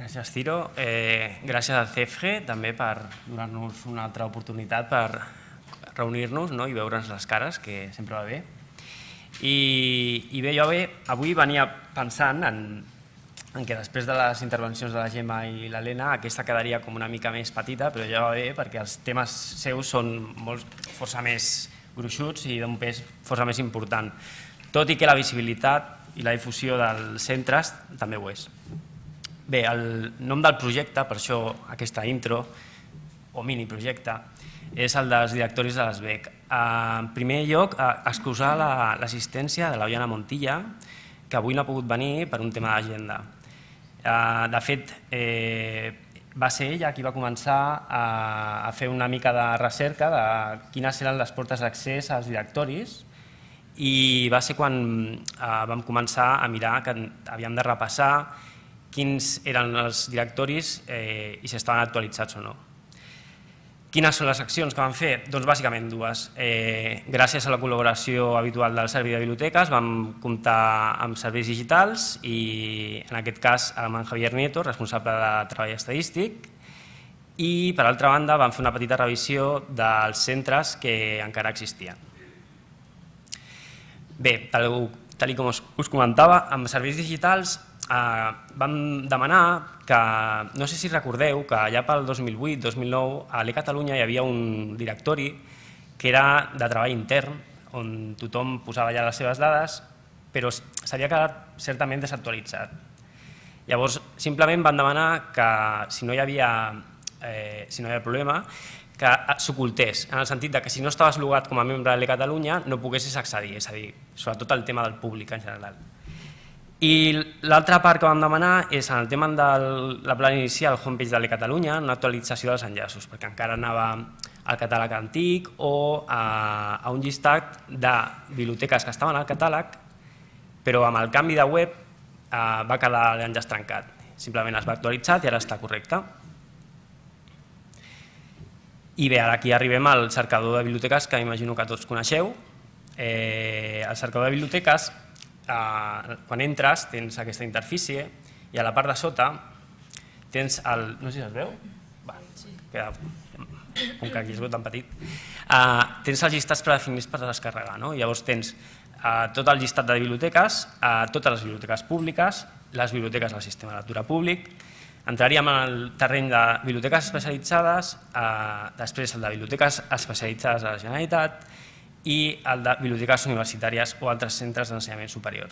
Gràcies, Ciro. Gràcies al CEFGE també per donar-nos una altra oportunitat per reunir-nos i veure'ns les cares, que sempre va bé. I bé, jo avui venia pensant en que després de les intervencions de la Gemma i l'Helena aquesta quedaria com una mica més petita, però ja va bé perquè els temes seus són força més gruixuts i d'un pes força més important, tot i que la visibilitat i la difusió dels centres també ho és. Bé, el nom del projecte, per això aquesta intro, o miniprojecte, és el dels directoris de l'ESBEC. En primer lloc, excusar l'assistència de l'Oiana Montilla, que avui no ha pogut venir per un tema d'agenda. De fet, va ser ella qui va començar a fer una mica de recerca de quines eren les portes d'accés als directoris i va ser quan vam començar a mirar que havíem de repassar quins eren els directoris i si estaven actualitzats o no. Quines són les accions que vam fer? Doncs bàsicament dues. Gràcies a la col·laboració habitual del Servei de Biblioteques vam comptar amb serveis digitals i en aquest cas amb en Javier Nieto, responsable de treball estadístic, i per altra banda vam fer una petita revisió dels centres que encara existien. Bé, tal com us comentava, amb serveis digitals vam demanar que, no sé si recordeu, que allà pel 2008-2009 a l'eCatalunya hi havia un directori que era de treball intern, on tothom posava ja les seves dades, però s'havia quedat certament desactualitzat. Llavors, simplement van demanar que, si no hi havia problema, que s'ocultés, en el sentit que si no estaves logat com a membre de l'eCatalunya no poguessis accedir, és a dir, sobretot el tema del públic en general. I l'altra part que vam demanar és en el tema de la plana inicial, el homepage de l'eCatalunya, una actualització dels enllaços, perquè encara anava al catàleg antic o a un llistat de biblioteques que estaven al catàleg, però amb el canvi de web va quedar l'enllaç trencat. Simplement es va actualitzar i ara està correcte. I bé, ara aquí arribem al cercador de biblioteques que m'imagino que tots coneixeu. El cercador de biblioteques, quan entres tens aquesta interfície i a la part de sota tens el... no sé si es veu? Com que aquí es veu tan petit. Tens els llistats predefinits per descarregar. Llavors tens tot el llistat de biblioteques, totes les biblioteques públiques, les biblioteques del sistema de lectura públic. Entraríem en el terreny de biblioteques especialitzades, després el de biblioteques especialitzades de la Generalitat i el de biblioteques universitàries o altres centres d'ensenyament superior.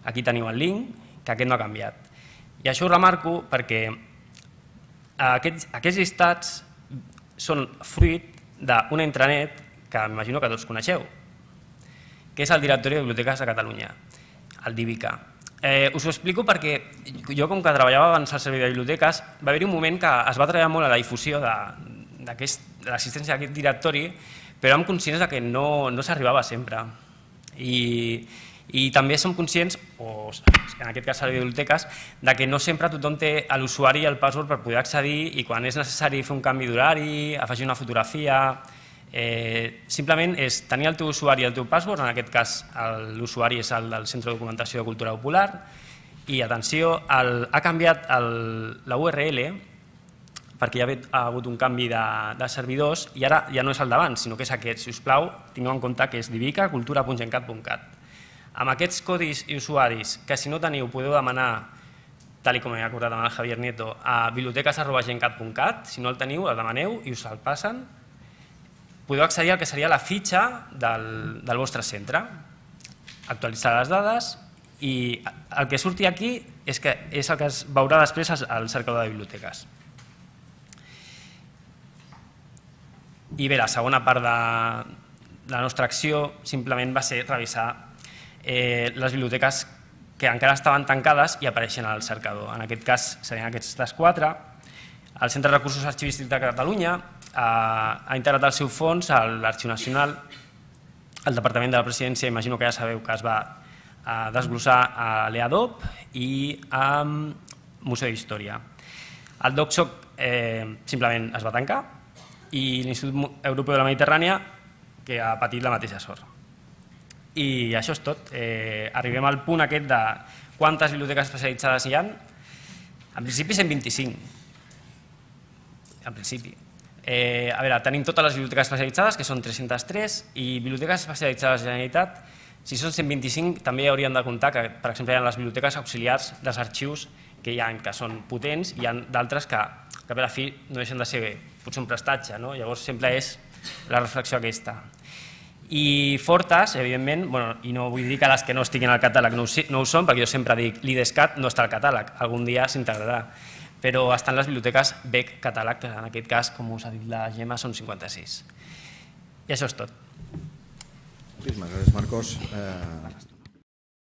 Aquí teniu el link, que aquest no ha canviat. I això ho remarco perquè aquests llistats són fruit d'una intranet que m'imagino que tots coneixeu, que és el Directori de Biblioteques de Catalunya, el DIBICA. Us ho explico perquè jo, com que treballava abans al Servei de Biblioteques, va haver-hi un moment que es va treballar molt a la difusió de l'existència d'aquest directori, però érem conscients que no s'arribava sempre. I també som conscients, o en aquest cas Servei de Biblioteques, que no sempre tothom té l'usuari i el password per poder accedir i quan és necessari fer un canvi d'horari, afegir una fotografia, simplement és tenir el teu usuari i el teu password, en aquest cas l'usuari és el del Centre de Documentació de Cultura Popular, i atenció, ha canviat la URL perquè hi ha hagut un canvi de servidors i ara ja no és el d'abans, sinó que és aquest. Si us plau, tingueu en compte que és dibica.cultura.gencat.cat. Amb aquests codis i usuaris, que si no teniu podeu demanar, tal com he acordat amb el Javier Nieto, a biblioteques@gencat.cat, si no el teniu el demaneu i us el passen, podeu accedir al que seria la fitxa del vostre centre, actualitzar les dades i el que surti aquí és el que es veurà després al cercador de biblioteques. I bé, la segona part de la nostra acció simplement va ser revisar les biblioteques que encara estaven tancades i apareixen al cercador. En aquest cas serien aquestes quatre. El Centre de Recursos Arxivístics de Catalunya ha integrat el seu fons a l'Arxiu Nacional. El Departament de la Presidència, imagino que ja sabeu que es va desglossar a l'EADOP i a Museu d'Història. El DocSoc simplement es va tancar i l'Institut Europeu de la Mediterrània, que ha patit la mateixa sort. I això és tot. Arribem al punt aquest de quantes biblioteques especialitzades hi ha. En principi 125. En principi. A veure, tenim totes les biblioteques especialitzades, que són 303, i biblioteques especialitzades de la Generalitat, si són 125, també hauríem de comptar que, per exemple, hi ha les biblioteques auxiliars dels arxius que hi ha, que són potents, i hi ha d'altres que per a fi no deixen de ser potser un prestatge, no? Llavors sempre és la reflexió aquesta. I fortes, evidentment, i no vull dir que les que no estiguin al catàleg no ho són, perquè jo sempre dic l'IDESCAT no està al catàleg, algun dia s'integrarà, però estan les biblioteques BEC catàleg, que en aquest cas, com us ha dit la Gemma, són 56. I això és tot. Moltíssimes gràcies, Marcos.